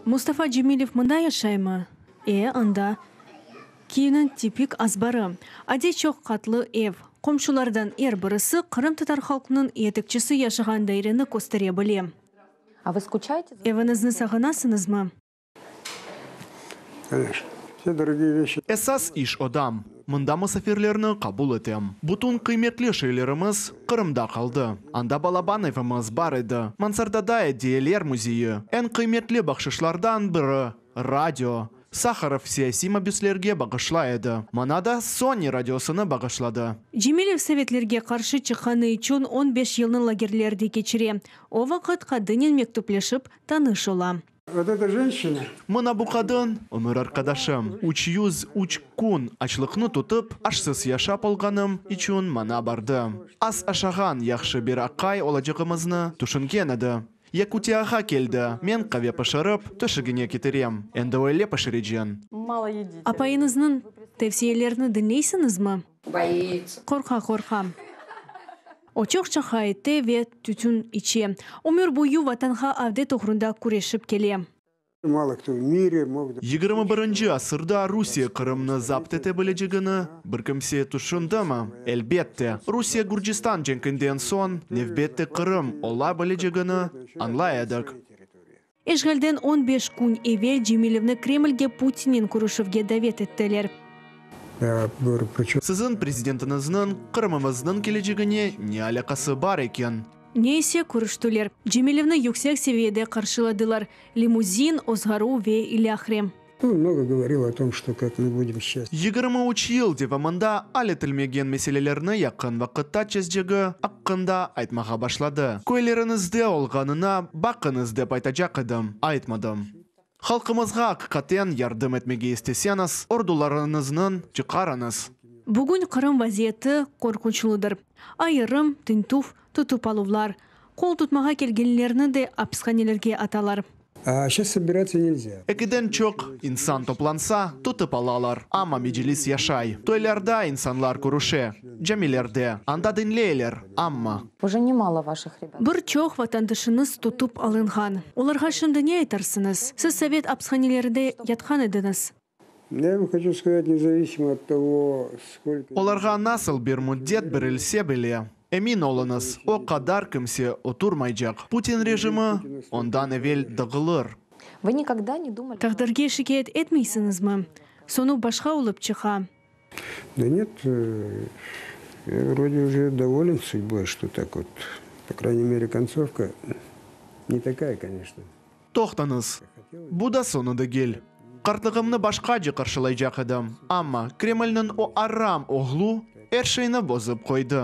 Mustafa Cemilev mında yaşaymı? E, anda. Kyivniñ tipik azbarı. Adiy çoq qatlı ev. Qomşulardan er birisi qırımtatar halqınıñ yetekçisi yaşağan daireni köstere bile. А вы скучаете? Eviñizni sağınasıñızmı? Конечно. Все дорогие вещи. Esas iş odam. Mında musafirlerni qabul etem. Bütün qıymetli şeylerimiz Qırımda qaldı. Anda balaban evimiz bar edi. Mansardada ediyeler müzeyi. Eñ qıymetli bahşışlardan biri, radio. Saharov siyasiy mabüslerge bağışlay edi. Maña da Sony radiosını bağışladı. Cemilev sovetlerge qarşı çıqqanı içün 15 yılnı lagerlerde keçire. O vaqıt qadınnen mektüpleşip tanış ola. Вот эта женщина, Mına bu qadın, ömür arqadaşım. 303 kün açlıqnı tutıp, aşsız yaşap olğanım içün maña bardı. Az aşağan yahşı bir aqay olacağımıznı tüşüngen edi. Yakutiyağa keldi, men qave pişirip, töşegine ketirem. Endi öyle pişirecem. Мало едите. Apayıñıznıñ tevsiyelerini diñleysiñizmi? Боится. Qorqa, qorqa. O çoq şaqa ete ve tütün içe. Ömür boyu vatanğa avdet oğrunda küreşip kele. Мало кто в мире мог... 21-nci asırda Rusiye Qırımnı zapt ete bilecegini bir kimse tüşündimi? Elbette, Rusiye Gürcistan cenkinden soñ nevbette Qırım ola bilecegini añlay edik. İşğalden 15 kün evel Cemilevni Kremlge Putinnen körüşüvge davet ettiler. Я говорю, причем Siziñ prezidentiñizniñ Qırımımıznıñ kelecegine ne alâqası bar eken? Ne ise körüştiler. Cemilevni yüksek seviyede qarşıladılar. Limuzin, ozğaruv ve ilâhre. Он много говорил о том, что как мы будем сейчас 23 yıl devamında al etilmegen meselelerni yaqın vaqıtta çezecegi aqqında aytmağa başladı. Köyleriñizde olğanına baqıñız dep aytacaq edim, aytmadım. Halqımızğa aqiqaten yardım etmege isteseñiz, ordularıñıznı çıqarıñız. Bugün Qırım vaziyeti qorqunçlıdır. Ayırım, tintüv, tutıp aluvlar. Qol tutmağa kelgenlerni de apishanelerge atalar. А сейчас собираться нельзя. Ekiden çoq insan toplansa, tutıp alalar. Amma Meclis yaşay. Toylarda insanlar körüşe. Camilerde. Anda diñleyler. Amma. Уже немало ваших ребят. Bir çoq vatandaşıñız tutıp alınğan. Olarğa şimdi ne aytarsıñız? Siz sovet apishanelerinde yatqan ediñiz. Я вам хочу сказать, независимо от того, сколько... Olarğa nasıl bir müddet berilse bile, emin oluñız, o qadar kimse oturmaycaq. Putin rejimi ondan evel dağılır. Вы никогда не думали... Taqdirge şikâyet etmeysiñizmi? Soñu başqa olıp çıqa. Да нет, я вроде уже доволен судьбой, что так вот, по крайней мере, концовка не такая, конечно. Toqtañız. Bu da soñu degil. Qartlığımnı başqace qarşılaycaq edim. Amma Kremlniñ o aram oğlu er şeyni bozıp qoydı.